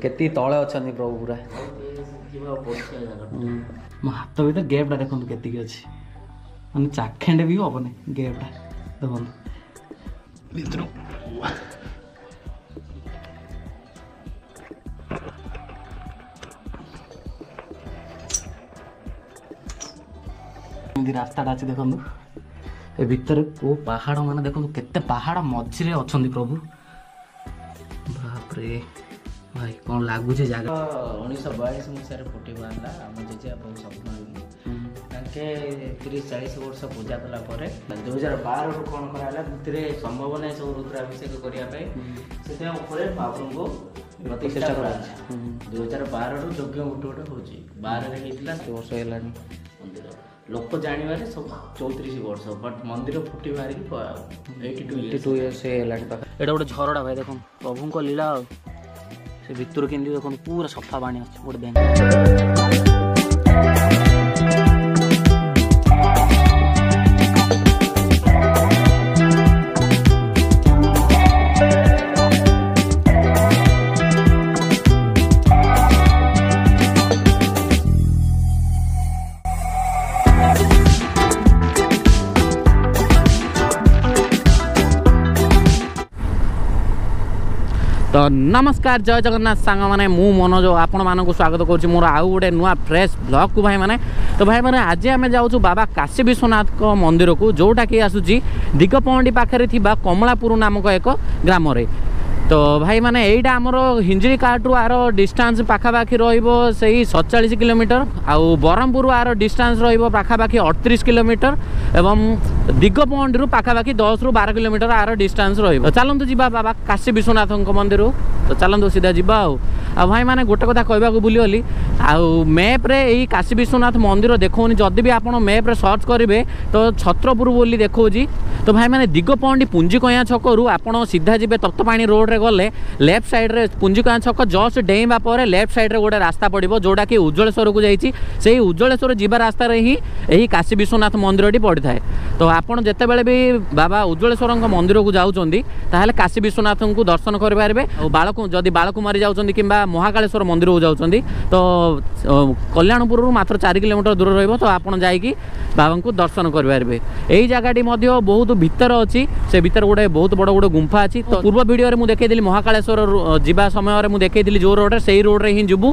କେତେ ତଳେ ଅଛନ୍ତି ପ୍ରଭୁ ପୁରା। ମୋ ହାତ ଭିତରେ ଗ୍ୟାପ୍ଟା ଦେଖନ୍ତୁ କେତିକି ଅଛି, ମାନେ ଚାଖେଣ୍ଡେ ବି ହବନି ଗ୍ୟାପ୍ଟା ଦେଖନ୍ତୁ ଭିତରୁ। ଏମିତି ରାସ୍ତାଟା ଅଛି ଦେଖନ୍ତୁ, ଏ ଭିତରେ କୋଉ ପାହାଡ଼, ମାନେ ଦେଖନ୍ତୁ କେତେ ପାହାଡ଼ ମଝିରେ ଅଛନ୍ତି ପ୍ରଭୁ। ବାପରେ ଭାଇ କ'ଣ ଲାଗୁଛି ଜାଗା। 1942 ମସିହାରେ ଫୁଟି ବାହାରିଲା। ଆମ ଜେଜେବାପାଙ୍କୁ ସ୍ୱପ୍ନ ହେଇକି ତାଙ୍କେ 30-40 ବର୍ଷ ପୂଜା କଲା ପରେ 2012ରୁ କ'ଣ କରାହେଲା, ଭିତରେ ସମ୍ଭବ ନାହିଁ ସବୁ ରୁଦ୍ରାଭିଷେକ କରିବା ପାଇଁ, ସେଥିପାଇଁ ଉପରେ ମହାପ୍ରଭୁଙ୍କୁ ପ୍ରତିଷ୍ଠା କରାହେଲା। 2012ରୁ ଯଜ୍ଞ ଗୋଟେ ଗୋଟେ ହେଉଛି। 12ରେ ହେଇଥିଲା, ବର୍ଷ ହେଲାଣି ମନ୍ଦିର ଲୋକ ଜାଣିବାରେ ସବୁ 34 ବର୍ଷ, ବଟ୍ ମନ୍ଦିର ଫୁଟି ବାହାରିକି 82 ଇୟର୍ସ ହେଇଗଲାଣି ପାଖ। ଏଇଟା ଗୋଟେ ଝରଡ଼ା ଭାଇ, ଦେଖନ୍ତୁ ପ୍ରଭୁଙ୍କ ଲୀଳା। ଆଉ ସେ ଭିତରୁ କେମିତି ଦେଖନ୍ତୁ ପୁରା ସଫା ପାଣି ଆସୁଛି ଗୋଟେ ବ୍ୟାଙ୍କ। ତ ନମସ୍କାର, ଜୟ ଜଗନ୍ନାଥ ସାଙ୍ଗମାନେ, ମୁଁ ମନୋଜ ଆପଣମାନଙ୍କୁ ସ୍ୱାଗତ କରୁଛି ମୋର ଆଉ ଗୋଟେ ନୂଆ ଫ୍ରେଶ୍ ବ୍ଲଗ୍କୁ ଭାଇମାନେ। ତ ଭାଇମାନେ ଆଜି ଆମେ ଯାଉଛୁ ବାବା କାଶୀ ବିଶ୍ୱନାଥଙ୍କ ମନ୍ଦିରକୁ, ଯେଉଁଟାକି ଆସୁଛି ଦିଗପହଣ୍ଡି ପାଖରେ ଥିବା କମଳାପୁର ନାମକ ଏକ ଗ୍ରାମରେ। ତ ଭାଇମାନେ ଏଇଟା ଆମର ହିଞ୍ଜିଳିକାଟରୁ ଆର ଡିଷ୍ଟାନ୍ସ ପାଖାପାଖି ରହିବ ସେଇ 47 କିଲୋମିଟର, ଆଉ ବ୍ରହ୍ମପୁର ଆର ଡିଷ୍ଟାନ୍ସ ରହିବ ପାଖାପାଖି 38 କିଲୋମିଟର, ଏବଂ ଦିଗପହଣ୍ଡିରୁ ପାଖାପାଖି 10ରୁ 12 କିଲୋମିଟର ଆର ଡିଷ୍ଟାନ୍ସ ରହିବ। ଚାଲନ୍ତୁ ଯିବା ବାବା କାଶୀ ବିଶ୍ୱନାଥଙ୍କ ମନ୍ଦିରକୁ। ତ ଚାଲନ୍ତୁ ସିଧା ଯିବା। ଆଉ ଆଉ ଭାଇମାନେ ଗୋଟେ କଥା କହିବାକୁ ଭୁଲିଗଲି, ଆଉ ମ୍ୟାପ୍ରେ ଏଇ କାଶୀ ବିଶ୍ୱନାଥ ମନ୍ଦିର ଦେଖାଉନି। ଯଦି ବି ଆପଣ ମ୍ୟାପ୍ରେ ସର୍ଚ୍ଚ କରିବେ ତ ଛତ୍ରପୁର ବୋଲି ଦେଖାଉଛି। ତ ଭାଇମାନେ ଦିଗପହଣ୍ଡି ପୁଞ୍ଜିକୟାଁ ଛକରୁ ଆପଣ ସିଧା ଯିବେ ତପ୍ତପାଣି ରୋଡ଼ରେ ଗଲେ ଲେଫ୍ଟ ସାଇଡ଼୍ରେ ପୁଞ୍ଜିକୟାଁ ଛକ ଜଷ୍ଟ ଡେଇଁବା ପରେ ଲେଫ୍ଟ ସାଇଡ଼୍ରେ ଗୋଟେ ରାସ୍ତା ପଡ଼ିବ, ଯେଉଁଟାକି ଉଜ୍ଜଳେଶ୍ୱରକୁ ଯାଇଛି। ସେଇ ଉଜ୍ଜଳେଶ୍ୱର ଯିବା ରାସ୍ତାରେ ହିଁ ଏହି କାଶୀ ବିଶ୍ୱନାଥ ମନ୍ଦିରଟି ପଡ଼ିଥାଏ। ତ ଆପଣ ଯେତେବେଳେ ବି ବାବା ଉଜ୍ଜଳେଶ୍ୱରଙ୍କ ମନ୍ଦିରକୁ ଯାଉଛନ୍ତି ତାହେଲେ କାଶୀ ବିଶ୍ୱନାଥଙ୍କୁ ଦର୍ଶନ କରିପାରିବେ। ଆଉ ଯଦି ବାଳକୁମାରୀ ଯାଉଛନ୍ତି କିମ୍ବା ମହାକାଳେଶ୍ୱର ମନ୍ଦିରକୁ ଯାଉଛନ୍ତି ତ କଲ୍ୟାଣପୁରରୁ ମାତ୍ର 4 କିଲୋମିଟର ଦୂର ରହିବ। ତ ଆପଣ ଯାଇକି ବାବାଙ୍କୁ ଦର୍ଶନ କରିପାରିବେ। ଏଇ ଜାଗାଟି ମଧ୍ୟ ବହୁତ ଭିତରେ ଅଛି, ସେ ଭିତରେ ଗୋଟେ ବହୁତ ବଡ଼ ଗୋଟେ ଗୁମ୍ଫା ଅଛି। ତ ପୂର୍ବ ଭିଡ଼ିଓରେ ମୁଁ ଦେଖେଇଥିଲି ମହାକାଳେଶ୍ୱର ଯିବା ସମୟରେ ମୁଁ ଦେଖେଇଥିଲି ଯେଉଁ ରୋଡ଼ରେ, ସେଇ ରୋଡ଼ରେ ହିଁ ଯିବୁ।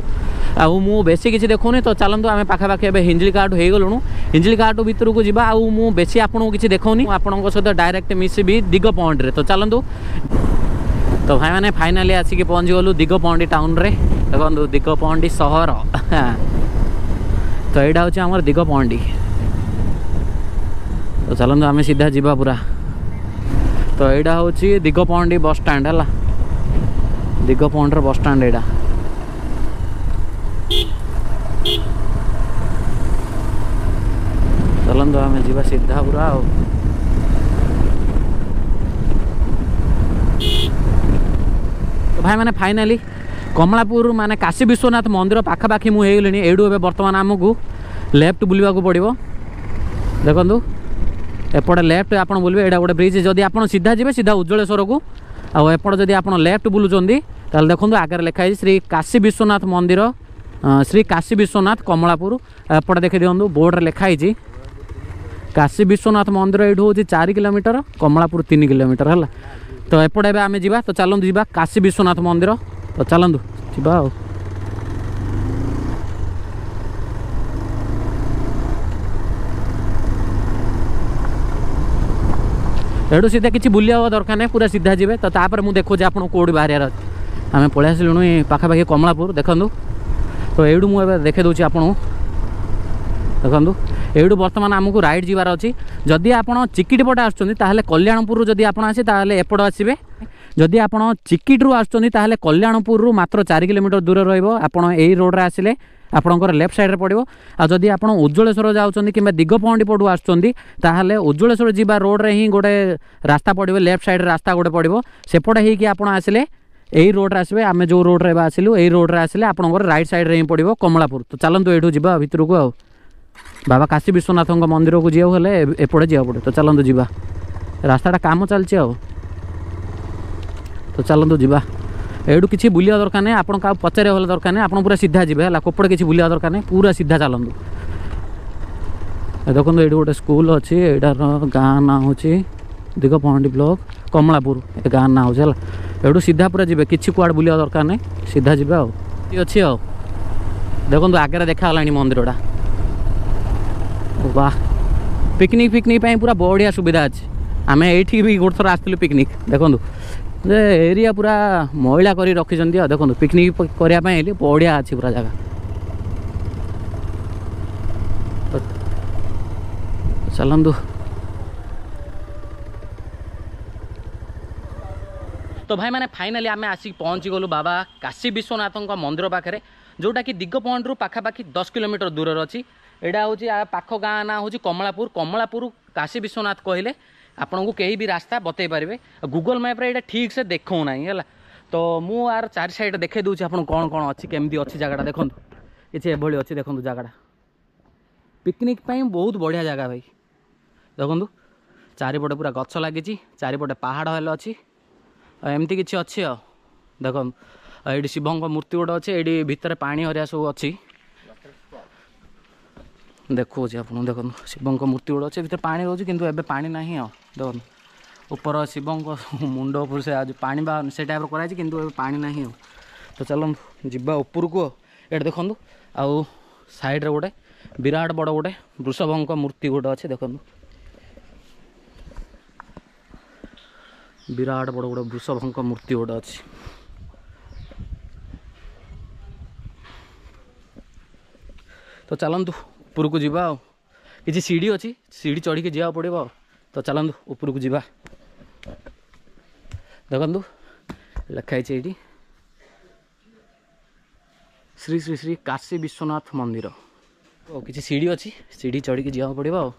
ଆଉ ମୁଁ ବେଶୀ କିଛି ଦେଖୁନି। ତ ଚାଲନ୍ତୁ ଆମେ ପାଖାପାଖି ଏବେ ହିଞ୍ଜିଳିକାଟ ହେଇଗଲୁଣୁ, ହିଞ୍ଜିଳିକାଟ ଭିତରକୁ ଯିବା। ଆଉ ମୁଁ ବେଶୀ ଆପଣଙ୍କୁ କିଛି ଦେଖାଉନି, ଆପଣଙ୍କ ସହିତ ଡାଇରେକ୍ଟ ମିଶିବି ଦିଗପହଣ୍ଡିରେ। ତ ଚାଲନ୍ତୁ। ତ ଭାଇମାନେ ଫାଇନାଲି ଆସିକି ପହଞ୍ଚିଗଲୁ ଦିଗପହଣ୍ଡି ଟାଉନରେ। ଦେଖନ୍ତୁ ଦିଗପହଣ୍ଡି ସହର। ତ ଏଇଟା ହେଉଛି ଆମର ଦିଗପହଣ୍ଡି। ତ ଚାଲନ୍ତୁ ଆମେ ସିଧା ଯିବା ପୁରା। ତ ଏଇଟା ହେଉଛି ଦିଗପହଣ୍ଡି ବସଷ୍ଟାଣ୍ଡ, ହେଲା ଦିଗପହଣ୍ଡିର ବସଷ୍ଟାଣ୍ଡ ଏଇଟା। ଚାଲନ୍ତୁ ଆମେ ଯିବା ସିଧା ପୁରା। ଆଉ ଭାଇମାନେ ଫାଇନାଲି କମଳାପୁର ମାନେ କାଶୀ ବିଶ୍ୱନାଥ ମନ୍ଦିର ପାଖାପାଖି ମୁଁ ହେଇଗଲିଣି। ଏଇଠୁ ଏବେ ବର୍ତ୍ତମାନ ଆମକୁ ଲେଫ୍ଟ ବୁଲିବାକୁ ପଡ଼ିବ। ଦେଖନ୍ତୁ ଏପଟେ ଲେଫ୍ଟ ଆପଣ ବୁଲିବେ, ଏଇଟା ଗୋଟେ ବ୍ରିଜ୍। ଯଦି ଆପଣ ସିଧା ଯିବେ ସିଧା ଉଜ୍ଜଳେଶ୍ୱରକୁ, ଆଉ ଏପଟେ ଯଦି ଆପଣ ଲେଫ୍ଟ ବୁଲୁଛନ୍ତି ତାହେଲେ ଦେଖନ୍ତୁ ଆଗରେ ଲେଖା ହେଇଛି ଶ୍ରୀ କାଶୀ ବିଶ୍ୱନାଥ ମନ୍ଦିର, ଶ୍ରୀ କାଶୀ ବିଶ୍ୱନାଥ କମଳାପୁର। ଏପଟେ ଦେଖି ଦିଅନ୍ତୁ ବୋର୍ଡ଼ରେ ଲେଖା ହେଇଛି କାଶୀ ବିଶ୍ୱନାଥ ମନ୍ଦିର। ଏଇଠୁ ହେଉଛି 4 କିଲୋମିଟର, କମଳାପୁର 3 କିଲୋମିଟର ହେଲା। ତ ଏପଟେ ଏବେ ଆମେ ଯିବା। ତ ଚାଲନ୍ତୁ ଯିବା କାଶୀ ବିଶ୍ୱନାଥ ମନ୍ଦିର। ତ ଚାଲନ୍ତୁ ଯିବା। ଆଉ ଏଠୁ ସିଧା କିଛି ବୁଲିବା ଦରକାର ନାହିଁ, ପୁରା ସିଧା ଯିବେ। ତ ତାପରେ ମୁଁ ଦେଖୁଛି ଆପଣଙ୍କୁ କେଉଁଠି ବାହାରିବାର ଅଛି। ଆମେ ପଳେଇ ଆସିଲୁଣୁ ପାଖାପାଖି କମଳାପୁର ଦେଖନ୍ତୁ। ତ ଏଇଠୁ ମୁଁ ଏବେ ଦେଖେଇ ଦେଉଛି ଆପଣଙ୍କୁ। ଦେଖନ୍ତୁ ଏଇଠୁ ବର୍ତ୍ତମାନ ଆମକୁ ରାଇଟ୍ ଯିବାର ଅଛି। ଯଦି ଆପଣ ଚିକିଟି ପଟେ ଆସୁଛନ୍ତି ତାହେଲେ କଲ୍ୟାଣପୁରରୁ ଯଦି ଆପଣ ଆସିବେ ତାହେଲେ ଏପଟ ଆସିବେ। ଯଦି ଆପଣ ଚିକିଟିରୁ ଆସୁଛନ୍ତି ତାହେଲେ କଲ୍ୟାଣପୁରରୁ ମାତ୍ର 4 କିଲୋମିଟର ଦୂର ରହିବ। ଆପଣ ଏଇ ରୋଡ଼ରେ ଆସିଲେ ଆପଣଙ୍କର ଲେଫ୍ଟ ସାଇଡ଼୍ରେ ପଡ଼ିବ। ଆଉ ଯଦି ଆପଣ ଉଜ୍ଜଳେଶ୍ୱର ଯାଉଛନ୍ତି କିମ୍ବା ଦିଗପହଣ୍ଡି ପଟୁ ଆସୁଛନ୍ତି ତାହେଲେ ଉଜ୍ଜଳେଶ୍ୱର ଯିବା ରୋଡ଼ରେ ହିଁ ଗୋଟେ ରାସ୍ତା ପଡ଼ିବ, ଲେଫ୍ଟ ସାଇଡ଼୍ରେ ରାସ୍ତା ଗୋଟେ ପଡ଼ିବ। ସେପଟେ ହେଇକି ଆପଣ ଆସିଲେ ଏଇ ରୋଡ଼ରେ ଆସିବେ। ଆମେ ଯେଉଁ ରୋଡ଼ରେ ଏବେ ଆସିଲୁ ଏଇ ରୋଡ଼ରେ ଆସିଲେ ଆପଣଙ୍କର ରାଇଟ୍ ସାଇଡ଼୍ରେ ହିଁ ପଡ଼ିବ କମଳାପୁର। ତ ଚାଲନ୍ତୁ ଏଇଠୁ ଯିବା ଭିତରକୁ। ଆଉ ବାବା କାଶୀ ବିଶ୍ୱନାଥଙ୍କ ମନ୍ଦିରକୁ ଯିବାକୁ ହେଲେ ଏପଟେ ଯିବାକୁ ପଡ଼ିବ। ତ ଚାଲନ୍ତୁ ଯିବା, ରାସ୍ତାଟା କାମ ଚାଲିଛି। ଆଉ ତ ଚାଲନ୍ତୁ ଯିବା। ଏଇଠୁ କିଛି ବୁଲିବା ଦରକାର ନାହିଁ, ଆପଣ କାହାକୁ ପଚାରିବା ଭଲ ଦରକାର ନାହିଁ, ଆପଣ ପୁରା ସିଧା ଯିବେ ହେଲା। କୋପଟେ କିଛି ବୁଲିବା ଦରକାର ନାହିଁ, ପୁରା ସିଧା ଚାଲନ୍ତୁ। ଦେଖନ୍ତୁ ଏଇଠି ଗୋଟେ ସ୍କୁଲ ଅଛି, ଏଇଟାର ଗାଁ ନାଁ ହେଉଛି ଦିଗପହଣ୍ଡି ବ୍ଲକ କମଳାପୁର, ଏ ଗାଁ ନାଁ ହେଉଛି ହେଲା। ଏଇଠୁ ସିଧା ପୁରା ଯିବେ, କିଛି କୁଆଡ଼େ ବୁଲିବା ଦରକାର ନାହିଁ, ସିଧା ଯିବେ ଆଉ ଅଛି ଆଉ। ଦେଖନ୍ତୁ ଆଗରେ ଦେଖାଗଲାଣି ମନ୍ଦିରଟା। ବାহ, ପିକନିକ୍ ଫିକନିକ୍ ପାଇଁ ପୁରା ବଢ଼ିଆ ସୁବିଧା ଅଛି। ଆମେ ଏଇଠି ବି ଗୋଟେ ଥର ଆସିଥିଲୁ ପିକନିକ୍। ଦେଖନ୍ତୁ ଯେ ଏରିଆ ପୁରା ମଇଳା କରି ରଖିଛନ୍ତି ଆଉ। ଦେଖନ୍ତୁ ପିକନିକ୍ କରିବା ପାଇଁ ହେଲେ ବଢ଼ିଆ ଅଛି ପୁରା ଜାଗା। ଚାଲନ୍ତୁ। ତ ଭାଇମାନେ ଫାଇନାଲି ଆମେ ଆସିକି ପହଞ୍ଚିଗଲୁ ବାବା କାଶୀ ବିଶ୍ୱନାଥଙ୍କ ମନ୍ଦିର ପାଖରେ, ଯେଉଁଟାକି ଦିଗପହଣ୍ଡିରୁ ପାଖାପାଖି 10 କିଲୋମିଟର ଦୂରରେ ଅଛି। ଏଇଟା ହେଉଛି ପାଖ ଗାଁ ନାଁ ହେଉଛି କମଳାପୁର। କମଳାପୁର କାଶୀ ବିଶ୍ୱନାଥ କହିଲେ ଆପଣଙ୍କୁ କେହି ବି ରାସ୍ତା ବତେଇ ପାରିବେ। ଗୁଗଲ୍ ମ୍ୟାପ୍ରେ ଏଇଟା ଠିକ୍ ସେ ଦେଖାଉନାହିଁ ହେଲା। ତ ମୁଁ ଆର ଚାରି ସାଇଡ଼୍ ଦେଖାଇ ଦେଉଛି ଆପଣଙ୍କୁ କ'ଣ କ'ଣ ଅଛି, କେମିତି ଅଛି ଜାଗାଟା। ଦେଖନ୍ତୁ କିଛି ଏଭଳି ଅଛି, ଦେଖନ୍ତୁ ଜାଗାଟା ପିକନିକ୍ ପାଇଁ ବହୁତ ବଢ଼ିଆ ଜାଗା ଭାଇ। ଦେଖନ୍ତୁ ଚାରିପଟେ ପୁରା ଗଛ ଲାଗିଛି, ଚାରିପଟେ ପାହାଡ଼ ହେଲେ ଅଛି, ଆଉ ଏମିତି କିଛି ଅଛି ଆଉ। ଦେଖନ୍ତୁ ଆଉ ଏଇଠି ଶିବଙ୍କ ମୂର୍ତ୍ତି ଗୋଟେ ଅଛି, ଏଇଠି ଭିତରେ ପାଣି ହରିଆ ସବୁ ଅଛି, ଦେଖାଉଛି ଆପଣଙ୍କୁ। ଦେଖନ୍ତୁ ଶିବଙ୍କ ମୂର୍ତ୍ତି ଗୋଟେ ଅଛି, ଭିତରେ ପାଣି ରହୁଛି, କିନ୍ତୁ ଏବେ ପାଣି ନାହିଁ ଆଉ। ଦେଖନ୍ତୁ ଉପର ଶିବଙ୍କ ମୁଣ୍ଡ ଉପରୁ ସେ ପାଣି ବା ସେ ଟାଇପ୍ର କରାଯାଇଛି, କିନ୍ତୁ ଏବେ ପାଣି ନାହିଁ ଆଉ। ତ ଚାଲନ୍ତୁ ଯିବା ଉପରକୁ ଆଉ। ଏଇଠି ଦେଖନ୍ତୁ ଆଉ ସାଇଡ଼୍ରେ ଗୋଟେ ବିରାଟ ବଡ଼ ଗୋଟେ ବୃଷଭଙ୍କ ମୂର୍ତ୍ତି ଗୋଟେ ଅଛି। ଦେଖନ୍ତୁ ବିରାଟ ବଡ଼ ଗୋଟେ ବୃଷଭଙ୍କ ମୂର୍ତ୍ତି ଗୋଟେ ଅଛି। ତ ଚାଲନ୍ତୁ ଉପରକୁ ଯିବା ଆଉ। କିଛି ସିଢ଼ି ଅଛି, ସିଢ଼ି ଚଢ଼ିକି ଯିବାକୁ ପଡ଼ିବ ଆଉ। ତ ଚାଲନ୍ତୁ ଉପରକୁ ଯିବା। ଦେଖନ୍ତୁ ଲେଖା ହେଇଛି ଏଇଠି ଶ୍ରୀ ଶ୍ରୀ ଶ୍ରୀ କାଶୀ ବିଶ୍ୱନାଥ ମନ୍ଦିର। ଓ କିଛି ସିଢ଼ି ଅଛି, ସିଢ଼ି ଚଢ଼ିକି ଯିବାକୁ ପଡ଼ିବ ଆଉ।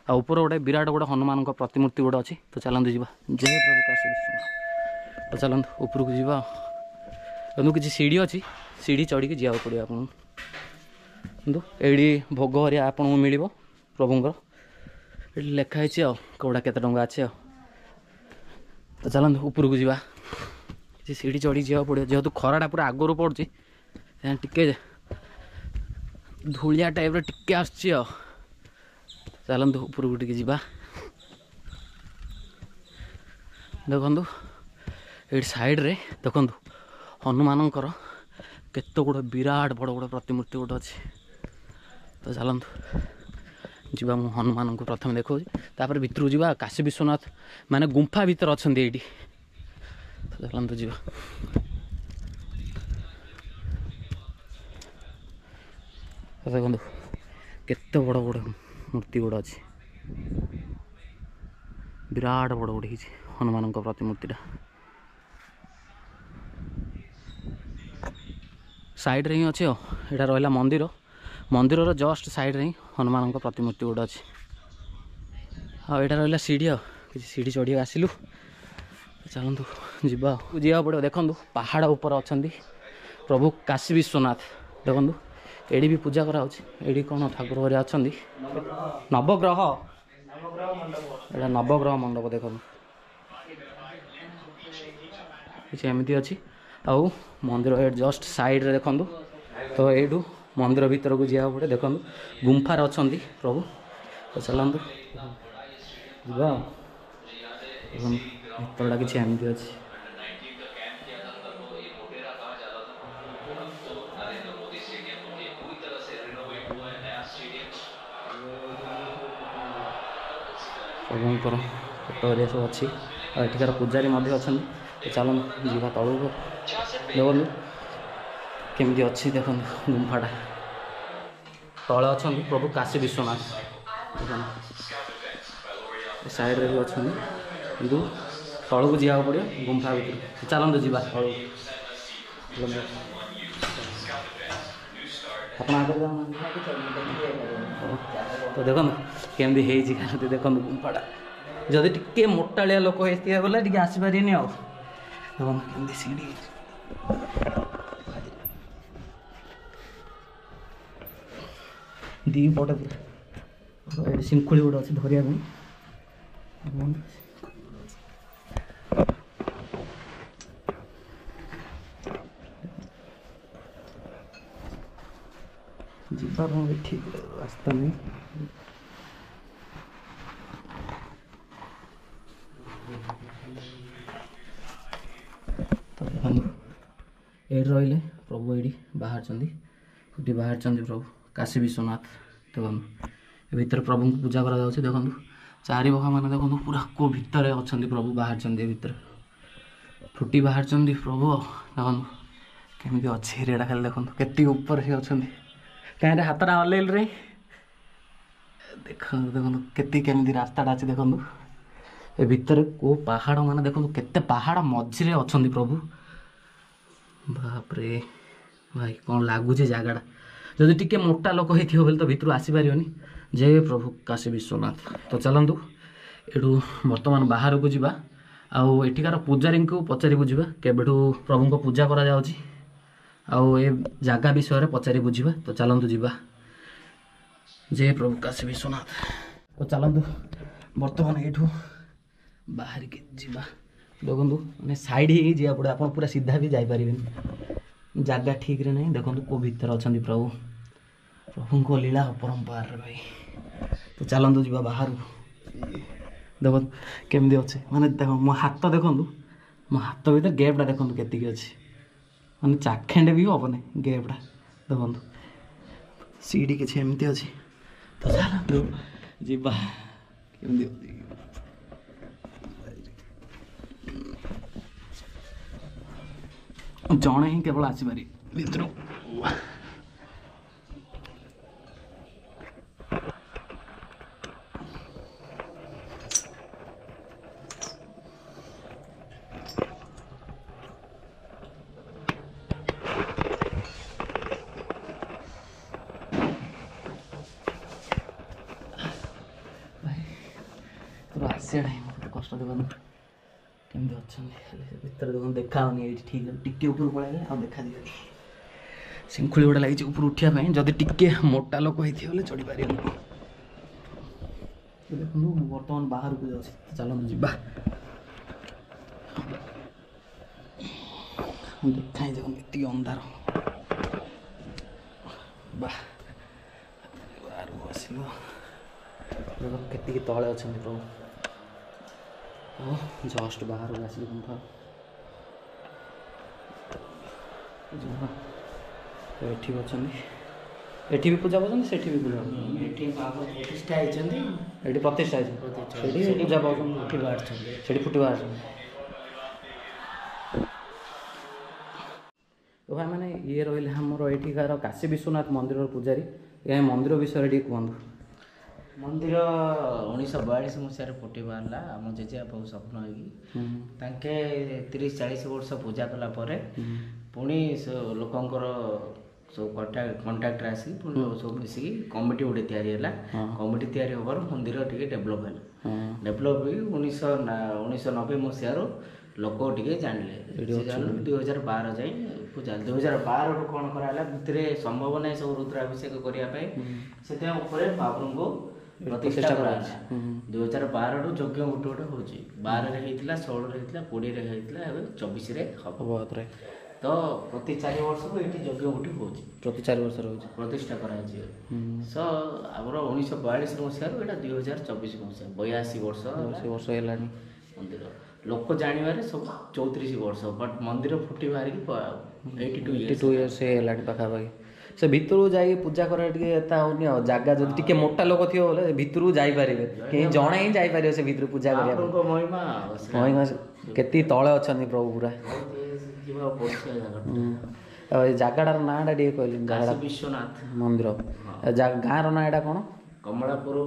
ଆଉ ଉପରେ ଗୋଟେ ବିରାଟ ଗୋଟେ ହନୁମାନଙ୍କ ପ୍ରତିମୂର୍ତ୍ତି ଗୋଟେ ଅଛି। ତ ଚାଲନ୍ତୁ ଯିବା। ଜୟ ପ୍ରଭୁ କାଶୀ ବିଶ୍ୱନାଥ। ତ ଚାଲନ୍ତୁ ଉପରକୁ ଯିବା। କିନ୍ତୁ କିଛି ସିଢ଼ି ଅଛି, ସିଢ଼ି ଚଢ଼ିକି ଯିବାକୁ ପଡ଼ିବ ଆପଣଙ୍କୁ। କିନ୍ତୁ ଏଇଠି ଭୋଗ ହରିଆ ଆପଣଙ୍କୁ ମିଳିବ ପ୍ରଭୁଙ୍କର। ଏଠି ଲେଖା ହେଇଛି ଆଉ କେଉଁଟା କେତେ ଟଙ୍କା ଅଛି ଆଉ। ତ ଚାଲନ୍ତୁ ଉପରକୁ ଯିବା। କିଛି ସିଢ଼ି ଚଢ଼ିକି ଯିବାକୁ ପଡ଼ିବ, ଯେହେତୁ ଖରାଟା ପୁରା ଆଗରୁ ପଡ଼ୁଛି, ଟିକେ ଧୂଳିଆ ଟାଇପ୍ର ଟିକେ ଆସୁଛି ଆଉ। ଚାଲନ୍ତୁ ଉପରକୁ ଟିକେ ଯିବା। ଦେଖନ୍ତୁ ଏଇଠି ସାଇଡ଼୍ରେ ଦେଖନ୍ତୁ ହନୁମାନଙ୍କର କେତେ ଗୁଡ଼େ ବିରାଟ ବଡ଼ ବଡ଼ ପ୍ରତିମୂର୍ତ୍ତି ଗୋଟେ ଅଛି। ତ ଚାଲନ୍ତୁ ଯିବା, ମୁଁ ହନୁମାନଙ୍କୁ ପ୍ରଥମେ ଦେଖାଉଛି, ତାପରେ ଭିତରକୁ ଯିବା। କାଶୀ ବିଶ୍ୱନାଥ ମାନେ ଗୁମ୍ଫା ଭିତରେ ଅଛନ୍ତି ଏଇଠି। ତ ଚାଲନ୍ତୁ ଯିବା। ଦେଖନ୍ତୁ କେତେ ବଡ଼ ବଡ଼ ମୂର୍ତ୍ତି ଗୁଡ଼ା ଅଛି, ବିରାଟ ବଡ଼ ଗୋଟେ ହେଇଛି ହନୁମାନଙ୍କ ପ୍ରତିମୂର୍ତ୍ତିଟା। ସାଇଡ଼୍ରେ ହିଁ ଅଛି ଆଉ। ଏଇଟା ରହିଲା ମନ୍ଦିର, ମନ୍ଦିରର ଜଷ୍ଟ ସାଇଡ଼୍ରେ ହିଁ ହନୁମାନଙ୍କ ପ୍ରତିମୂର୍ତ୍ତି ଗୋଟେ ଅଛି। ଆଉ ଏଇଟା ରହିଲା ସିଢ଼ି, ଆଉ କିଛି ସିଢ଼ି ଚଢ଼ିକି ଆସିଲୁ। ଚାଲନ୍ତୁ ଯିବା, ଯିବାକୁ ପଡ଼ିବ। ଦେଖନ୍ତୁ ପାହାଡ଼ ଉପରେ ଅଛନ୍ତି ପ୍ରଭୁ କାଶୀ ବିଶ୍ୱନାଥ। ଦେଖନ୍ତୁ ଏଠି ବି ପୂଜା କରାହେଉଛି। ଏଠି କ'ଣ ଠାକୁର ଘରେ ଅଛନ୍ତି, ନବଗ୍ରହ, ଏଇଟା ନବଗ୍ରହ ମଣ୍ଡପ। ଦେଖନ୍ତୁ କିଛି ଏମିତି ଅଛି। ଆଉ ମନ୍ଦିର ଏଇଠି ଜଷ୍ଟ ସାଇଡ଼୍ରେ ଦେଖନ୍ତୁ। ତ ଏଇଠୁ ମନ୍ଦିର ଭିତରକୁ ଯିବାକୁ ପଡ଼େ। ଦେଖନ୍ତୁ ଗୁମ୍ଫାରେ ଅଛନ୍ତି ପ୍ରଭୁ। ତ ଚାଲନ୍ତୁ ଯିବା ଆଉ। ଦେଖନ୍ତୁ ଭିତରଟା କିଛି ଏମିତି ଅଛି। ପ୍ରଭୁଙ୍କର ଫଟୋ ହେରିକା ସବୁ ଅଛି। ଆଉ ଏଠିକାର ପୂଜାରୀ ମଧ୍ୟ ଅଛନ୍ତି। ତ ଚାଲନ୍ତୁ ଯିବା ତଳକୁ। ଦେଖନ୍ତୁ କେମିତି ଅଛି, ଦେଖନ୍ତୁ ଗୁମ୍ଫାଟା। ତଳେ ଅଛନ୍ତି ପ୍ରଭୁ କାଶୀ ବିଶ୍ୱନାଥ। ଦେଖନ୍ତୁ ସାଇଡ଼୍ରେ ବି ଅଛନ୍ତି, କିନ୍ତୁ ତଳକୁ ଯିବାକୁ ପଡ଼ିବ ଗୁମ୍ଫା ଭିତରକୁ। ଚାଲନ୍ତୁ ଯିବା ତଳକୁ। ଆପଣ ଆଗରେ ଯାଉନାହାନ୍ତି। ତ ଦେଖନ୍ତୁ କେମିତି ହେଇଛି, ଖାଲି ଦେଖନ୍ତୁ ଗୁମ୍ଫାଟା। ଯଦି ଟିକେ ମୋଟାଳିଆ ଲୋକ ହେଇଥିବେ ବୋଲେ ଟିକେ ଆସିପାରିବେନି ଆଉ। ଦେଖନ୍ତୁ କେମିତି ସିଢ଼ି ହେଇଛି। ଦି ପଟେ ପୁରା ଏଠି ଶିଙ୍କୁଳି ଗୋଟେ ଅଛି ଧରିବା ପାଇଁ। ଯିବା ପାଇଁ ବି ଠିକ୍ ରାସ୍ତା ନାହିଁ। ତ ଦେଖନ୍ତୁ ଏଇଠି ରହିଲେ ପ୍ରଭୁ, ଏଇଠି ବାହାରିଛନ୍ତି, ଏଠି ବାହାରିଛନ୍ତି ପ୍ରଭୁ କାଶୀ ବିଶ୍ୱନାଥ। ଦେଖନ୍ତୁ ଏ ଭିତରେ ପ୍ରଭୁଙ୍କୁ ପୂଜା କରାଯାଉଛି। ଦେଖନ୍ତୁ ଚାରିପାଖ ମାନେ ଦେଖନ୍ତୁ ପୁରା କେଉଁ ଭିତରେ ଅଛନ୍ତି ପ୍ରଭୁ, ବାହାରିଛନ୍ତି ଏ ଭିତରେ ଫୁଟି ବାହାରିଛନ୍ତି ପ୍ରଭୁ। ଦେଖନ୍ତୁ କେମିତି ଅଛି ଏରିଆଟା, ଖାଲି ଦେଖନ୍ତୁ କେତିକି ଉପରେ ସେ ଅଛନ୍ତି। କାହିଁରେ ହାତଟା ହଲେଇଲୁ ରେ, ଦେଖନ୍ତୁ ଦେଖନ୍ତୁ କେତିକି କେମିତି ରାସ୍ତାଟା ଅଛି। ଦେଖନ୍ତୁ ଏ ଭିତରେ କେଉଁ ପାହାଡ଼ ମାନେ ଦେଖନ୍ତୁ କେତେ ପାହାଡ଼ ମଝିରେ ଅଛନ୍ତି ପ୍ରଭୁ। ବାପରେ ଭାଇ କ'ଣ ଲାଗୁଛି ଜାଗାଟା। ଯଦି ଟିକେ ମୋଟା ଲୋକ ହେଇଥିବ ବୋଲି ତ ଭିତରୁ ଆସିପାରିବନି। ଜୟ ପ୍ରଭୁ କାଶୀ ବିଶ୍ୱନାଥ। ତ ଚାଲନ୍ତୁ ଏଠୁ ବର୍ତ୍ତମାନ ବାହାରକୁ ଯିବା ଆଉ ଏଠିକାର ପୂଜାରୀଙ୍କୁ ପଚାରି ବୁଝିବା କେବେଠୁ ପ୍ରଭୁଙ୍କ ପୂଜା କରାଯାଉଛି ଆଉ ଏ ଜାଗା ବିଷୟରେ ପଚାରି ବୁଝିବା। ତ ଚାଲନ୍ତୁ ଯିବା। ଜୟ ପ୍ରଭୁ କାଶୀ ବିଶ୍ୱନାଥ। ତ ଚାଲନ୍ତୁ ବର୍ତ୍ତମାନ ଏଇଠୁ ବାହାରିକି ଯିବା। ଦେଖନ୍ତୁ ମାନେ ସାଇଡ଼୍ ହେଇକି ଯିବାକୁ ପଡ଼ିବ, ଆପଣ ପୁରା ସିଧା ବି ଯାଇପାରିବେନି, ଜାଗା ଠିକ୍ରେ ନାହିଁ। ଦେଖନ୍ତୁ କେଉଁ ଭିତରେ ଅଛନ୍ତି ପ୍ରଭୁ, ପ୍ରଭୁଙ୍କ ଲୀଳା ଅପରମ୍ପାରରେ ଭାଇ। ତ ଚାଲନ୍ତୁ ଯିବା ବାହାରକୁ। ଦେଖନ୍ତୁ କେମିତି ଅଛି, ମାନେ ଦେଖ ମୋ ହାତ ଦେଖନ୍ତୁ, ମୋ ହାତ ଭିତରେ ଗ୍ୟାପ୍ଟା ଦେଖନ୍ତୁ କେତିକି ଅଛି, ମାନେ ଚାଖେଣ୍ଡେ ବି ହେବନି ଗ୍ୟାପ୍ଟା। ଦେଖନ୍ତୁ ସିଡ଼ି କିଛି ଏମିତି ଅଛି। ତ ଚାଲନ୍ତୁ ଯିବା କେମିତି ଅଛି। ଜଣେ ହିଁ କେବଳ ଆସିପାରିବେ ଭିତରୁ। ଆସିବାଟା ହିଁ ମୋତେ କଷ୍ଟ। ଦେଖନ୍ତୁ କେମିତି ଅଛନ୍ତି, ଖାଲି ସେ ଭିତରେ ଦେଖନ୍ତୁ ଦେଖା ହେଉନି ଏଇଠି ଠିକ୍, ଟିକେ ଉପରକୁ ପଳେଇଲେ ଆଉ ଦେଖାଯିବନି। ଶିଙ୍ଖୁଳି ଗୋଟେ ଲାଗିଛି ଉପରୁ ଉଠିବା ପାଇଁ, ଯଦି ଟିକେ ମୋଟା ଲୋକ ହେଇଥିବ ବୋଲେ ଚଢ଼ିପାରିବନି। ଦେଖନ୍ତୁ ମୁଁ ବର୍ତ୍ତମାନ ବାହାରକୁ ଯାଉଛି, ଚାଲନ୍ତୁ ଯିବା। ଦେଖା ହିଁ ଦେଖନ୍ତୁ ଏତିକି ଅନ୍ଧାର। ବା ବାହାରକୁ ଆସିବ, ଦେଖନ୍ତୁ କେତିକି ତଳେ ଅଛନ୍ତି ପ୍ରଭୁ। ଜଷ୍ଟ ବାହାରକୁ ଆସିଲି ଗୁମ୍ଫା। ଏଠି ବି ଅଛନ୍ତି, ଏଠି ବି ପୂଜା ପାଉଛନ୍ତି, ସେଠି ବି ପୂଜା ପାଉଛନ୍ତି। ଏଠି ପ୍ରତିଷ୍ଠା ହେଇଛନ୍ତି, ଏଠି ପ୍ରତିଷ୍ଠା ହେଇଛନ୍ତି, ସେଠି ପୂଜା ପାଉଛନ୍ତି, ଫୁଟି ବାହାରୁଛନ୍ତି, ସେଠି ଫୁଟି ବାହାରୁଛନ୍ତି। ତ ଭାଇମାନେ ଇଏ ରହିଲେ ଆମର ଏଠିକାର କାଶୀ ବିଶ୍ୱନାଥ ମନ୍ଦିରର ପୂଜାରୀ। ଏ ମନ୍ଦିର ବିଷୟରେ ଟିକେ କୁହନ୍ତୁ। ମନ୍ଦିର 1942 ମସିହାରେ ଫୁଟି ବାହାରିଲା ଆମ ଜେଜେବାପାକୁ ସ୍ୱପ୍ନ ହେଇକି। ତାଙ୍କେ 30-40 ବର୍ଷ ପୂଜା କଲା ପରେ ପୁଣି ଲୋକଙ୍କର ସବୁ କଣ୍ଟାକ୍ଟରେ ଆସିକି ପୁଣି ସବୁ ମିଶିକି କମିଟି ଗୋଟେ ତିଆରି ହେଲା। କମିଟି ତିଆରି ହେବାରୁ ମନ୍ଦିର ଟିକେ ଡେଭଲପ୍ ହେଲା। ଡେଭଲପ୍ ହେଇକି 1990 ମସିହାରୁ ଲୋକ ଟିକେ ଜାଣିଲେ। ଜାଣିଲେ 2012 ଯାଏଁ ପୂଜା। 2012ରୁ କ'ଣ କରାହେଲା, ଭିତରେ ସମ୍ଭବ ନାହିଁ ସବୁ ରୁଦ୍ରାଭିଷେକ କରିବା ପାଇଁ, ସେଥିପାଇଁ ଉପରେ ମହାପ୍ରଭୁଙ୍କୁ ପ୍ରତିଷ୍ଠା କରାହେଲା। 2012ରୁ ଯଜ୍ଞ ଗୋଟେ ଗୋଟେ ହେଉଛି। 12ରେ ହେଇଥିଲା, 16ରେ ହେଇଥିଲା, 20ରେ ହେଇଥିଲା, ଏବେ 24ରେ ହବ। ତ ପ୍ରତି 4 ବର୍ଷକୁ ଏଇଠି ଯଜ୍ଞ ଗୋଟେ ହେଉଛି, ପ୍ରତି 4 ବର୍ଷରେ ହେଉଛି ପ୍ରତିଷ୍ଠା କରାଯାଇଛି। ସ ଆମର 1942 ମସିହାରୁ ଏଇଟା 2024 ମସିହା, 82 ବର୍ଷ ବର୍ଷ ହେଲାଣି ମନ୍ଦିର। ଲୋକ ଜାଣିବାରେ ସବୁ 34 ବର୍ଷ, ବଟ୍ ମନ୍ଦିର ଫୁଟି ବାହାରିକି 82 ଇୟର୍ସ ହେଲାଣି ପାଖାପାଖି। ସେ ଭିତରକୁ ଯାଇକି ପୂଜା କରିବା ଟିକେ ଏତା ହଉନି ଆଉ, ଜାଗା ଯଦି ଟିକେ ମୋଟା ଲୋକ ଥିବ ବୋଲେ ଭିତରକୁ ଯାଇପାରିବେ, କେହି ଜଣେ ହିଁ ଯାଇପାରିବ ସେ ଭିତରକୁ ପୂଜା କରିବା ପାଇଁ। ମହିମା କେତିକି ତଳେ ଅଛନ୍ତି ପ୍ରଭୁ ପୁରା। ଆଉ ଏ ଜାଗାଟାର ନାଁଟା ଟିକେ କହିଲେ? ଜାଗାଟା ବିଶ୍ୱନାଥ ମନ୍ଦିର। ଗାଁର ନାଁ ଏଇଟା କ'ଣ? କମଳାପୁର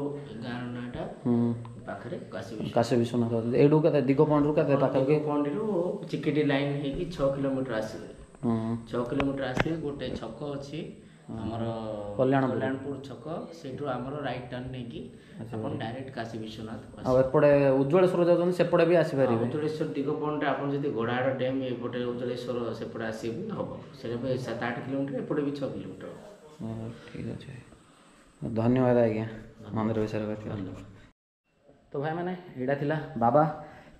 ଗାଁର ନାଁଟା ପାଖରେ କାଶୀ ବିଶ୍ୱନାଥ। ଏଇଠୁ କେତେ ଦିଗପହଣ୍ଡିରୁ କେତେ ପାଖାପାଖି? ଦିଗପହଣ୍ଡିରୁ ଚିକିଟି ଲାଇନ୍ ହେଇକି 6 କିଲୋମିଟର ଆସିବେ। 6 କିଲୋମିଟର ଆସିବେ, ଗୋଟେ ଛକ ଅଛି ଆମର କଲ୍ୟାଣପୁର ଛକ, ସେଇଠୁ ଆମର ରାଇଟ୍ ଟର୍ନ ନେଇକି ଆପଣ ଡାଇରେକ୍ଟ କାଶୀ ବିଶ୍ୱନାଥ। ଆଉ ଏପଟେ ଉଜ୍ଜ୍ୱଳେଶ୍ୱର ଯାଉଛନ୍ତି, ସେପଟେ ବି ଆସିପାରିବେ। ଉଜ୍ଜ୍ୱଳେଶ୍ୱର ଦିଗପହଣ୍ଡିରେ ଆପଣ ଯଦି ଗୋଡ଼ାହାଡ଼ ଡ୍ୟାମ୍ ଏପଟେ ଉଜ୍ଜ୍ୱଳେଶ୍ୱର ସେପଟେ ଆସିବେ ହବ, ସେଇଟା ବି 7-8 କିଲୋମିଟର, ଏପଟେ ବି 6 କିଲୋମିଟର। ଠିକ୍ ଅଛି, ଧନ୍ୟବାଦ ଆଜ୍ଞା ମନ୍ଦିର ବିଷୟରେ କହିଥିବାରୁ। ତ ଭାଇମାନେ ଏଇଟା ଥିଲା ବାବା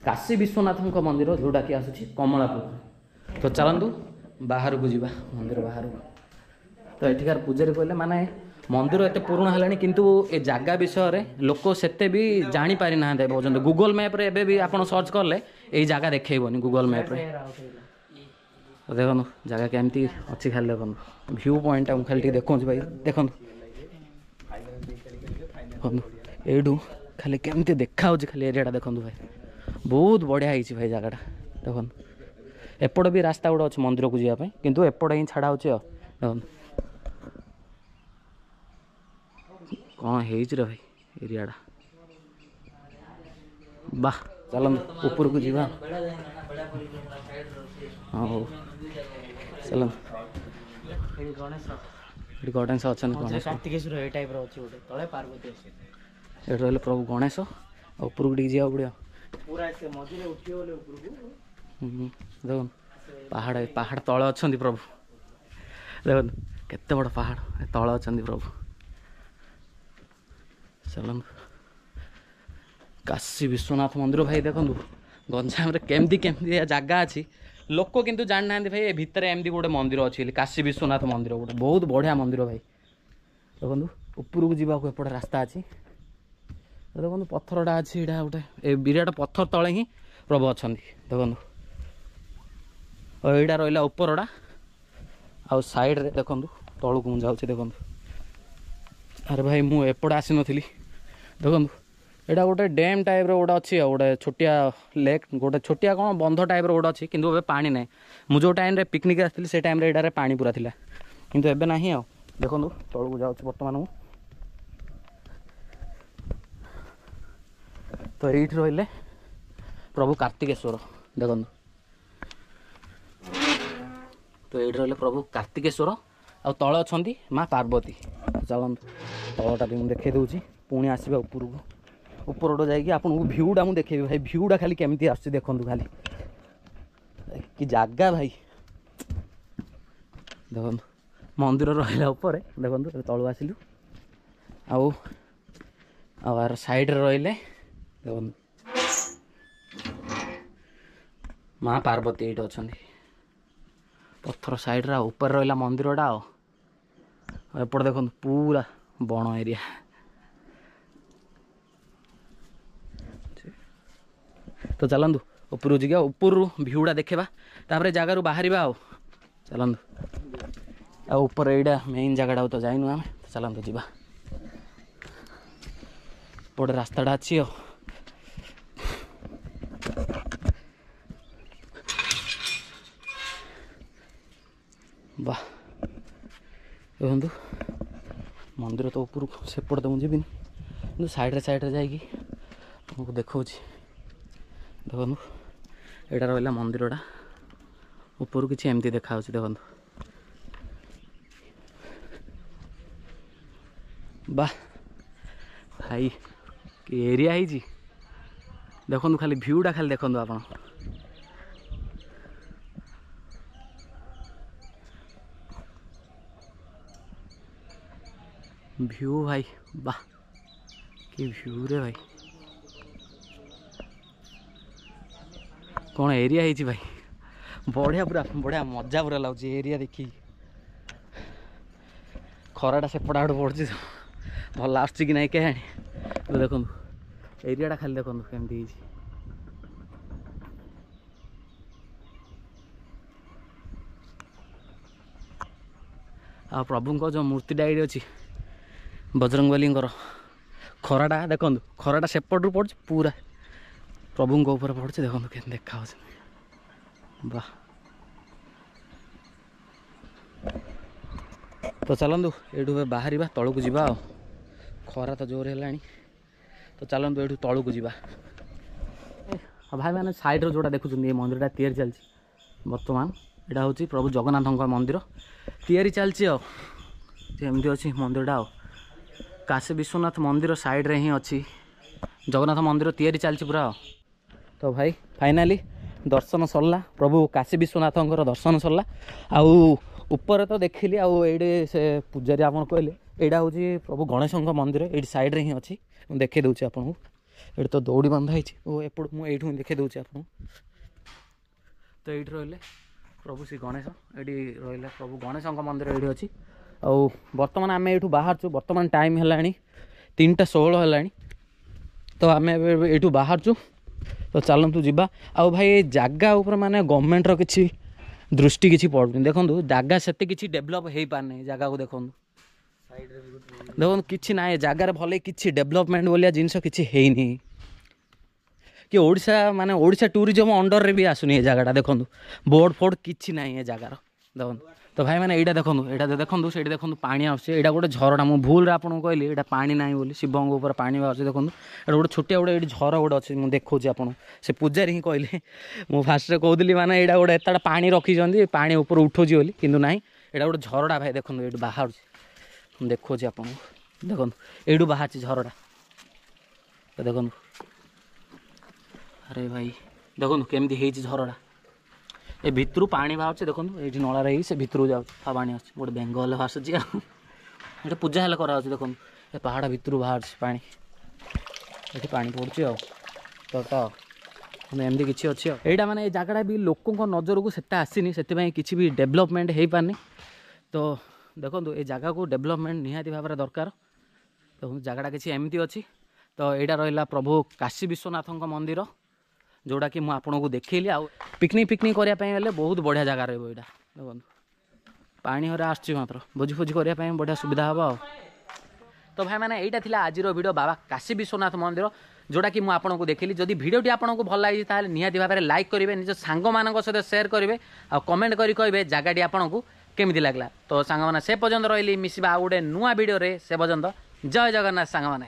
କାଶୀ ବିଶ୍ୱନାଥଙ୍କ ମନ୍ଦିର, ଯେଉଁଟାକି ଆସୁଛି କମଳାପୁର। ତ ଚାଲନ୍ତୁ ବାହାରକୁ ଯିବା, ମନ୍ଦିର ବାହାରକୁ। ତ ଏଠିକାର ପୂଜାରୀ କହିଲେ ମାନେ ମନ୍ଦିର ଏତେ ପୁରୁଣା ହେଲାଣି କିନ୍ତୁ ଏ ଜାଗା ବିଷୟରେ ଲୋକ ସେତେ ବି ଜାଣିପାରିନାହାନ୍ତି ଏବେ ପର୍ଯ୍ୟନ୍ତ। ଗୁଗଲ୍ ମ୍ୟାପ୍ରେ ଏବେ ବି ଆପଣ ସର୍ଚ୍ଚ କଲେ ଏଇ ଜାଗା ଦେଖେଇବନି ଗୁଗଲ୍ ମ୍ୟାପ୍ରେ। ଦେଖନ୍ତୁ ଜାଗା କେମିତି ଅଛି, ଖାଲି ଦେଖନ୍ତୁ ଭ୍ୟୁ ପଏଣ୍ଟଟା ମୁଁ ଖାଲି ଟିକେ ଦେଖଉଛି ଭାଇ। ଦେଖନ୍ତୁ ଦେଖନ୍ତୁ ଏଇଠୁ ଖାଲି କେମିତି ଦେଖାହେଉଛି ଖାଲି ଏରିଆଟା ଦେଖନ୍ତୁ ଭାଇ, ବହୁତ ବଢ଼ିଆ ହେଇଛି ଭାଇ ଜାଗାଟା। ଦେଖନ୍ତୁ ଏପଟେ ବି ରାସ୍ତା ଗୋଟେ ଅଛି ମନ୍ଦିରକୁ ଯିବା ପାଇଁ, କିନ୍ତୁ ଏପଟେ ହିଁ ଛାଡ଼ା ହେଉଛି ଆଉ। ଦେଖନ୍ତୁ କ'ଣ ହେଇଛି ରେ ଭାଇ ଏରିଆଟା, ବାহ। ଚାଲନ୍ତୁ ଉପରକୁ ଯିବା। ହଉ ଚାଲନ୍ତୁ। ଏଠି ଗଣେଶ ଅଛନ୍ତି, ଗଣେଶ କାର୍ତ୍ତିକେଶ୍ୱର ଏ ଟାଇପ୍ର ଅଛି ଗୋଟେ, ତଳେ ପାର୍ବତୀ ଅଛି। ଏଠି ରହିଲେ ପ୍ରଭୁ ଗଣେଶ। ଆଉ ଉପରକୁ ଟିକେ ଯିବାକୁ ପଡ଼ିବ। ପୁରା ସେ ମଝିରେ ଉଠିବ ବୋଲେ ଉପରକୁ। ଦେଖନ୍ତୁ ପାହାଡ଼, ପାହାଡ଼ ତଳେ ଅଛନ୍ତି ପ୍ରଭୁ। ଦେଖନ୍ତୁ କେତେ ବଡ଼ ପାହାଡ଼, ତଳେ ଅଛନ୍ତି ପ୍ରଭୁ। ଚାଲନ୍ତୁ କାଶୀ ବିଶ୍ୱନାଥ ମନ୍ଦିର ଭାଇ। ଦେଖନ୍ତୁ ଗଞ୍ଜାମରେ କେମିତି କେମିତି ଜାଗା ଅଛି, ଲୋକ କିନ୍ତୁ ଜାଣିନାହାନ୍ତି ଭାଇ ଏ ଭିତରେ ଏମିତି ଗୋଟେ ମନ୍ଦିର ଅଛି ବୋଲି। କାଶୀ ବିଶ୍ୱନାଥ ମନ୍ଦିର ଗୋଟେ ବହୁତ ବଢ଼ିଆ ମନ୍ଦିର ଭାଇ। ଦେଖନ୍ତୁ ଉପରକୁ ଯିବାକୁ ଏପଟେ ରାସ୍ତା ଅଛି। ଦେଖନ୍ତୁ ପଥରଟା ଅଛି, ଏଇଟା ଗୋଟେ ଏ ବିରାଟ ପଥର ତଳେ ହିଁ ପ୍ରଭୁ ଅଛନ୍ତି। ଦେଖନ୍ତୁ ଆଉ ଏଇଟା ରହିଲା ଉପରଟା, ଆଉ ସାଇଡ଼ରେ ଦେଖନ୍ତୁ ତଳକୁ ମୁଁ ଯାଉଛି। ଦେଖନ୍ତୁ ଆରେ ଭାଇ ମୁଁ ଏପଟେ ଆସିନଥିଲି। ଦେଖନ୍ତୁ ଏଇଟା ଗୋଟେ ଡ୍ୟାମ୍ ଟାଇପ୍ର ଗୋଟେ ଅଛି, ଆଉ ଗୋଟେ ଛୋଟିଆ ଲେକ୍, ଗୋଟେ ଛୋଟିଆ କ'ଣ ବନ୍ଧ ଟାଇପ୍ର ଗୋଟେ ଅଛି, କିନ୍ତୁ ଏବେ ପାଣି ନାହିଁ। ମୁଁ ଯେଉଁ ଟାଇମ୍ରେ ପିକନିକ୍ ଆସିଥିଲି ସେ ଟାଇମ୍ରେ ଏଇଟାରେ ପାଣି ପୁରା ଥିଲା, କିନ୍ତୁ ଏବେ ନାହିଁ ଆଉ। ଦେଖନ୍ତୁ ତଳକୁ ଯାଉଛି ବର୍ତ୍ତମାନ ମୁଁ। ତ ଏଇଠି ରହିଲେ ପ୍ରଭୁ କାର୍ତ୍ତିକେଶ୍ୱର। ଦେଖନ୍ତୁ ତ ଏଇଠି ରହିଲେ ପ୍ରଭୁ କାର୍ତ୍ତିକେଶ୍ୱର, ଆଉ ତଳେ ଅଛନ୍ତି ମା ପାର୍ବତୀ। ଚାଲନ୍ତୁ ତଳଟା ବି ମୁଁ ଦେଖେଇ ଦେଉଛି, ପୁଣି ଆସିବା ଉପରକୁ। ଉପରଟା ଯାଇକି ଆପଣଙ୍କୁ ଭ୍ୟୁଟା ମୁଁ ଦେଖେଇବି ଭାଇ। ଭ୍ୟୁଟା ଖାଲି କେମିତି ଆସୁଛି ଦେଖନ୍ତୁ, ଖାଲି କି ଜାଗା ଭାଇ। ଦେଖନ୍ତୁ ମନ୍ଦିର ରହିଲା ଉପରେ। ଦେଖନ୍ତୁ ତଳୁ ଆସିଲୁ, ଆଉ ଆଉ ଆର ସାଇଡ଼ରେ ରହିଲେ ଦେଖନ୍ତୁ ମା ପାର୍ବତୀ ଏଇଠି ଅଛନ୍ତି ପଥର ସାଇଡ଼ରେ। ଆଉ ଉପରେ ରହିଲା ମନ୍ଦିରଟା। ଆଉ ଏପଟେ ଦେଖନ୍ତୁ ପୁରା ବଣ ଏରିଆ। ତ ଚାଲନ୍ତୁ ଉପରକୁ ଯିବା, ଉପରରୁ ଭ୍ୟୁଟା ଦେଖିବା, ତାପରେ ଜାଗାରୁ ବାହାରିବା। ଆଉ ଚାଲନ୍ତୁ, ଆଉ ଉପରେ ଏଇଟା ମେନ୍ ଜାଗାଟାକୁ ତ ଯାଇନୁ ଆମେ, ତ ଚାଲନ୍ତୁ ଯିବା। ଏପଟେ ରାସ୍ତାଟା ଅଛି। ଆଉ ବାহ ଦେଖନ୍ତୁ ମନ୍ଦିର ତ ଉପରକୁ, ସେପଟେ ତ ମୁଁ ଯିବିନି, କିନ୍ତୁ ସାଇଡ଼ରେ ସାଇଡ଼ରେ ଯାଇକି ତୁମକୁ ଦେଖାଉଛି। ଦେଖନ୍ତୁ ଏଇଟା ରହିଲା ମନ୍ଦିରଟା, ଉପରୁ କିଛି ଏମିତି ଦେଖାହେଉଛି। ଦେଖନ୍ତୁ ବାহ ଭାଇ କି ଏରିଆ ହେଇଛି। ଦେଖନ୍ତୁ ଖାଲି ଭ୍ୟୁଟା ଖାଲି ଦେଖନ୍ତୁ ଆପଣ। ଭ୍ୟୁ ଭାଇ ବାহ କି ଭ୍ୟୁ ରେ ଭାଇ, କ'ଣ ଏରିଆ ହେଇଛି ଭାଇ, ବଢ଼ିଆ, ପୁରା ବଢ଼ିଆ ମଜା ପୁରା ଲାଗୁଛି ଏରିଆ ଦେଖିକି। ଖରାଟା ସେପଟ ଆଡ଼ୁ ପଡ଼ୁଛି, ଭଲ ଆସୁଛି କି ନାହିଁ କେଜାଣି। ଦେଖନ୍ତୁ ଏରିଆଟା ଖାଲି ଦେଖନ୍ତୁ କେମିତି ହେଇଛି। ଆଉ ପ୍ରଭୁଙ୍କ ଯେଉଁ ମୂର୍ତ୍ତିଟା ଏଇଠି ଅଛି ବଜରଙ୍ଗବଲୀଙ୍କର, ଖରାଟା ଦେଖନ୍ତୁ, ଖରାଟା ସେପଟରୁ ପଡ଼ୁଛି ପୁରା ପ୍ରଭୁଙ୍କ ଉପରେ ପଡ଼ୁଛି। ଦେଖନ୍ତୁ କେମିତି ଦେଖାହେଉଛି, ବାহ। ତ ଚାଲନ୍ତୁ ଏଇଠୁ ଏବେ ବାହାରିବା, ତଳକୁ ଯିବା। ଆଉ ଖରା ତ ଜୋର ହେଲାଣି, ତ ଚାଲନ୍ତୁ ଏଇଠୁ ତଳକୁ ଯିବା। ଆଉ ଭାଇମାନେ ସାଇଡ଼୍ରେ ଯେଉଁଟା ଦେଖୁଛନ୍ତି ଏ ମନ୍ଦିରଟା ତିଆରି ଚାଲିଛି ବର୍ତ୍ତମାନ। ଏଇଟା ହେଉଛି ପ୍ରଭୁ ଜଗନ୍ନାଥଙ୍କ ମନ୍ଦିର, ତିଆରି ଚାଲିଛି। ଆଉ ଏମିତି ଅଛି ମନ୍ଦିରଟା। ଆଉ କାଶୀ ବିଶ୍ୱନାଥ ମନ୍ଦିର ସାଇଡ଼୍ରେ ହିଁ ଅଛି ଜଗନ୍ନାଥ ମନ୍ଦିର, ତିଆରି ଚାଲିଛି ପୁରା। ଆଉ ତ ଭାଇ ଫାଇନାଲି ଦର୍ଶନ ସରିଲା, ପ୍ରଭୁ କାଶୀ ବିଶ୍ୱନାଥଙ୍କର ଦର୍ଶନ ସରିଲା। ଆଉ ଉପରେ ତ ଦେଖିଲି, ଆଉ ଏଇଠି ସେ ପୂଜାରୀ ଆପଣ କହିଲେ ଏଇଟା ହେଉଛି ପ୍ରଭୁ ଗଣେଶଙ୍କ ମନ୍ଦିର, ଏଇଠି ସାଇଡ଼୍ରେ ହିଁ ଅଛି। ମୁଁ ଦେଖେଇ ଦେଉଛି ଆପଣଙ୍କୁ। ଏଇଠି ତ ଦୌଡ଼ି ବନ୍ଧା ହେଇଛି, ଓ ଏପଟୁ ମୁଁ ଏଇଠୁ ହିଁ ଦେଖେଇ ଦେଉଛି ଆପଣଙ୍କୁ। ତ ଏଇଠି ରହିଲେ ପ୍ରଭୁ ଶ୍ରୀ ଗଣେଶ, ଏଇଠି ରହିଲେ ପ୍ରଭୁ ଗଣେଶଙ୍କ ମନ୍ଦିର ଏଇଠି ଅଛି। ଆଉ ବର୍ତ୍ତମାନ ଆମେ ଏଇଠୁ ବାହାରୁଛୁ। ବର୍ତ୍ତମାନ ଟାଇମ୍ ହେଲାଣି 3:16 ହେଲାଣି। ତ ଆମେ ଏବେ ଏଇଠୁ ବାହାରୁଛୁ। ତ ଚାଲନ୍ତୁ ଯିବା। ଆଉ ଭାଇ ଏ ଜାଗା ଉପରେ ମାନେ ଗଭର୍ଣ୍ଣମେଣ୍ଟର କିଛି ଦୃଷ୍ଟି କିଛି ପଡ଼ୁନି। ଦେଖନ୍ତୁ ଜାଗା ସେତେ କିଛି ଡେଭଲପ୍ ହେଇପାରୁନି। ଜାଗାକୁ ଦେଖନ୍ତୁ, ଦେଖନ୍ତୁ କିଛି ନାହିଁ ଏ ଜାଗାରେ, ଭଲ କିଛି ଡେଭଲପମେଣ୍ଟ ଭଳିଆ ଜିନିଷ କିଛି ହେଇନି କି ଓଡ଼ିଶା ମାନେ ଓଡ଼ିଶା ଟୁରିଜମ୍ ଅଣ୍ଡରରେ ବି ଆସୁନି ଏ ଜାଗାଟା। ଦେଖନ୍ତୁ ବୋର୍ଡ଼ ଫୋର୍ଡ଼ କିଛି ନାହିଁ ଏ ଜାଗାର। ଦେଖନ୍ତୁ ତ ଭାଇମାନେ ଏଇଟା ଦେଖନ୍ତୁ, ଏଇଟା ଦେଖନ୍ତୁ, ସେଇଠି ଦେଖନ୍ତୁ ପାଣି ଆସୁଛି। ଏଇଟା ଗୋଟେ ଝରଣା। ମୁଁ ଭୁଲରେ ଆପଣଙ୍କୁ କହିଲି ଏଇଟା ପାଣି ନାହିଁ ବୋଲି, ଶିବଙ୍କ ଉପରେ ପାଣି ବାହାରୁଛି। ଦେଖନ୍ତୁ ଏଇଟା ଗୋଟେ ଛୋଟିଆ ଗୋଟେ ଏଇଠି ଝର ଗୋଟେ ଅଛି, ମୁଁ ଦେଖାଉଛି ଆପଣଙ୍କୁ। ସେ ପୂଜାରୀ ହିଁ କହିଲେ, ମୁଁ ଫାଷ୍ଟରେ କହୁଥିଲି ମାନେ ଏଇଟା ଗୋଟେ ଏତେଟା ପାଣି ରଖିଛନ୍ତି, ପାଣି ଉପରୁ ଉଠୁଛି ବୋଲି, କିନ୍ତୁ ନାହିଁ, ଏଇଟା ଗୋଟେ ଝରଣା ଭାଇ। ଦେଖନ୍ତୁ ଏଇଠୁ ବାହାରୁଛି, ମୁଁ ଦେଖାଉଛି ଆପଣଙ୍କୁ। ଦେଖନ୍ତୁ ଏଇଠୁ ବାହାରୁଛି ଝରଟା। ତ ଦେଖନ୍ତୁ, ଆରେ ଭାଇ ଦେଖନ୍ତୁ କେମିତି ହେଇଛି ଝରଟା। ଏ ଭିତରୁ ପାଣି ବାହାରୁଛି। ଦେଖନ୍ତୁ ଏଇଠି ନଳାରେ ହେଇକି ସେ ଭିତରକୁ ଯାଉଛି, ଆଉ ପାଣି ଆସୁଛି। ଗୋଟେ ବେଙ୍ଗ ହେଲେ ଆସୁଛି, ଆଉ ଏଠି ପୂଜା ହେଲେ କରାହେଉଛି। ଦେଖନ୍ତୁ ଏ ପାହାଡ଼ ଭିତରୁ ବାହାରୁଛି ପାଣି, ଏଠି ପାଣି ପଡ଼ୁଛି। ଆଉ ତ ତ ମାନେ ଏମିତି କିଛି ଅଛି। ଆଉ ଏଇଟା ମାନେ ଏ ଜାଗାଟା ବି ଲୋକଙ୍କ ନଜରକୁ ସେତେ ଆସିନି, ସେଥିପାଇଁ କିଛି ବି ଡେଭଲପମେଣ୍ଟ ହେଇପାରିନି। ତ ଦେଖନ୍ତୁ ଏ ଜାଗାକୁ ଡେଭଲପମେଣ୍ଟ ନିହାତି ଭାବରେ ଦରକାର। ଦେଖନ୍ତୁ ଜାଗାଟା କିଛି ଏମିତି ଅଛି। ତ ଏଇଟା ରହିଲା ପ୍ରଭୁ କାଶୀ ବିଶ୍ୱନାଥଙ୍କ ମନ୍ଦିର, ଯେଉଁଟାକି ମୁଁ ଆପଣଙ୍କୁ ଦେଖେଇଲି। ଆଉ ପିକନିକ୍ ଫିକନିକ୍ କରିବା ପାଇଁ ହେଲେ ବହୁତ ବଢ଼ିଆ ଜାଗା ରହିବ ଏଇଟା। ଦେଖନ୍ତୁ ପାଣି ହରା ଆସୁଛି, ମାତ୍ର ଭୋଜି ଫୋଜି କରିବା ପାଇଁ ବଢ଼ିଆ ସୁବିଧା ହେବ। ଆଉ ତ ଭାଇମାନେ ଏଇଟା ଥିଲା ଆଜିର ଭିଡ଼ିଓ ବାବା କାଶୀ ବିଶ୍ୱନାଥ ମନ୍ଦିର, ଯେଉଁଟାକି ମୁଁ ଆପଣଙ୍କୁ ଦେଖିଲି। ଯଦି ଭିଡ଼ିଓଟି ଆପଣଙ୍କୁ ଭଲ ଲାଗିଛି ତାହେଲେ ନିହାତି ଭାବରେ ଲାଇକ୍ କରିବେ, ନିଜ ସାଙ୍ଗମାନଙ୍କ ସହିତ ସେୟାର କରିବେ, ଆଉ କମେଣ୍ଟ କରି କହିବେ ଜାଗାଟି ଆପଣଙ୍କୁ କେମିତି ଲାଗିଲା। ତ ସାଙ୍ଗମାନେ ସେ ପର୍ଯ୍ୟନ୍ତ ରହିଲି, ମିଶିବା ଆଉ ଗୋଟେ ନୂଆ ଭିଡ଼ିଓରେ। ସେ ପର୍ଯ୍ୟନ୍ତ ଜୟ ଜଗନ୍ନାଥ ସାଙ୍ଗମାନେ।